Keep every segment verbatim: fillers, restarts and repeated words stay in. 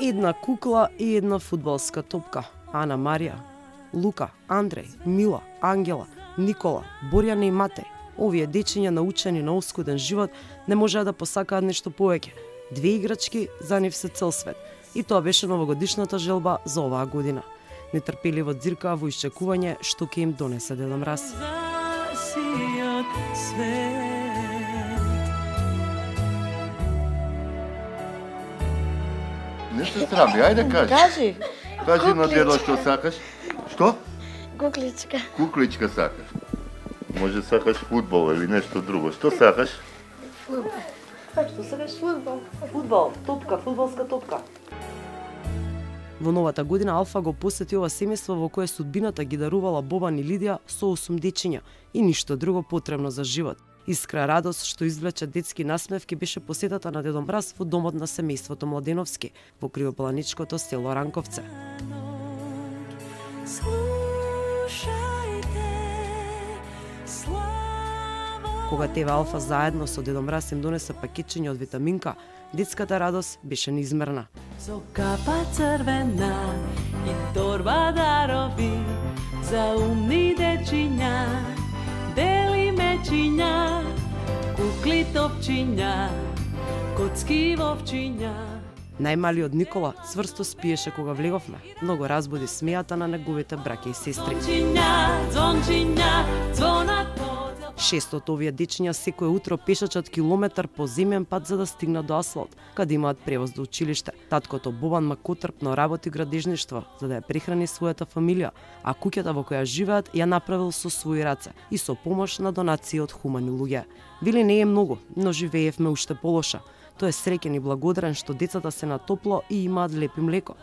Една кукла и една фудбалска топка. Ана Марија, Лука, Андреј, Мила, Ангела, Никола, Борјана и Матеј. Овие дечиња научени на оскуден живот не можеа да посакаат нешто повеќе. Две играчки за нив се цел свет. И тоа беше новогодишната желба за оваа година. Нетрпеливо ѕиркаа во исчекување што ќе им донесе Дедо Мраз. Нешто срами, ајде кажи. Кажи. Кажи на дедо што сакаш. Што? Кукличка. Кукличка сакаш. Може сакаш фудбал или нешто друго. Што сакаш? Фудбал. Што сакаш? Фудбал. Фудбал, топка, фудбалска топка. Во новата година Алфа го посети ова семејство во кое судбината ги дарувала Бобан и Лидија со осум дечиња и ништо друго потребно за живот. Искра радост што извлече детски насмевки беше посетата на Дедо Мраз во домот на семејството Младеновски во кривопланичкото село Ранковце. Кога Те Ве Алфа заедно со Дедо Мраз им донесе пакетчиња од витаминка, детската радост беше неизмерна. Со капа црвена и торба дарови за умни дечиња, дели мечиња, кукли топчиња, коцки вовчиња. Најмалиот Никола цврсто спиеше кога влеговме, но го разбуди смејата на неговите браќа и сестри. Звончиња, звончиња, звонат по Шест од овие дечиња секое утро пешачат километар по земен пат за да стигнат до асфалт, каде имаат превоз до училиште. Таткото Бобан макотрпно работи градежништво за да ја прехрани својата фамилија, а куќата во која живеат ја направил со своји раце и со помош на донации од хумани луѓе. Вели не е многу, но живеевме уште полоша. Тој е среќен и благодарен што децата се на топло и имаат лепи млеко.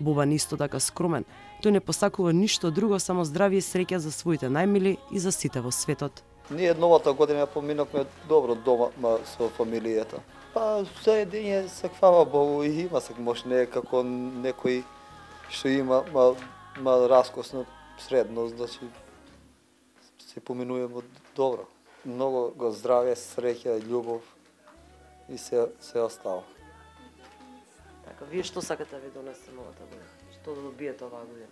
Бобан исто така скромен. Тој не посакува ништо друго, само здравје и среќа за своите најмили и за сите во светот. Ние новата година поминавме добро дома со фамилијата. Па за едиње саквава Богу и има сак може не е како некој што има ма, ма раскосно средно, значи се поминуваме добро. Многу го здравје, среќа, љубов и се се остава. Така, вие што сакате да ви донесе новата година? Што да добиете оваа година?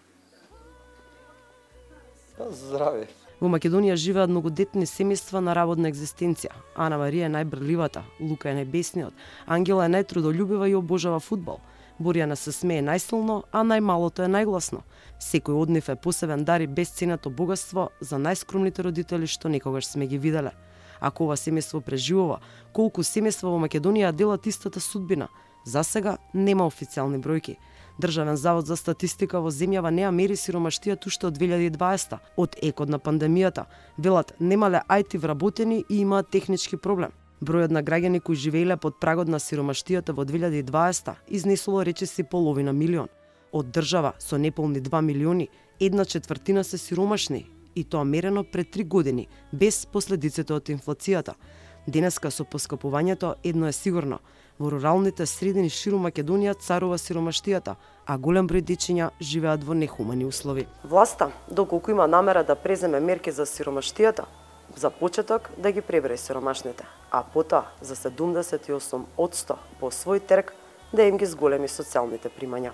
Па здравје. Во Македонија живеат многодетни семејства на работна екзистенција. Ана Марија е најбрливата, Лука е најбесниот, Ангела е најтрудолюбива и обожава фудбал. Борјана се смее најсилно, а најмалото е најгласно. Секој од нив е посебен дар и бесценето богатство за најскромните родители што некогаш сме ги виделе. Ако ова семејство преживува, колку семејства во Македонија делат истата судбина? За сега нема официјални бројки. Државен завод за статистика во земјава не ја мери сиромаштијата уште од две илјади и дваесета, од екот на пандемијата. Велат, немале ај ти вработени и имаат технички проблем. Бројот на граѓани кои живееле под прагот на сиромаштијата во две илјади и дваесета изнесоло речиси половина милион. Од држава со неполни два милиони, една четвртина се сиромашни, и тоа мерено пред три години, без последиците од инфлацијата. Денеска со поскапувањето едно е сигурно. Во руралните средини ширум Македонија царува сиромаштијата, а голем број дечиња живеат во нехумани услови. Власта, доколку има намера да преземе мерки за сиромаштијата, за почеток да ги пребре сиромашните, а потоа за седумдесет и осум одсто по свој терк да им ги зголеми социјалните примања.